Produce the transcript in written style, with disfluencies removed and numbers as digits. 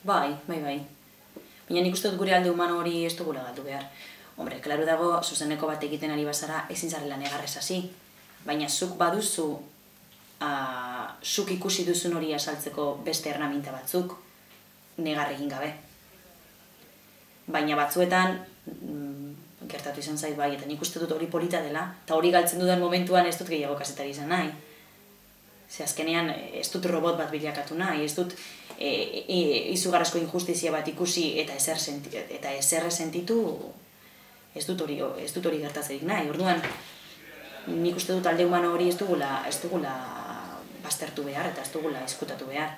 Bai. Baina nik uste dut gure alde humano hori ez dugula galdu behar. Hombre, klaro dago, zuzeneko bat egiten ari bazara, ezin zarela negarrez hasi. Baina zuk baduzu, zuk ikusi duzun hori azaltzeko beste ernaminta batzuk, negar egin gabe. Baina batzuetan, gertatu izan zait bai, eta nik uste dut hori polita dela, eta hori galtzen dudan momentuan ez dut gehiago kazetari izan nahi. Ze azkenean ez dut robot bat bilakatu nahi, ez dut izugarrizko injustizia bat ikusi eta ezer sentitu, ez dut hori gertatzerik nahi. Orduan, nik uste dut alde humano hori ez dugula baztertu behar eta ez dugula ezkutatu behar.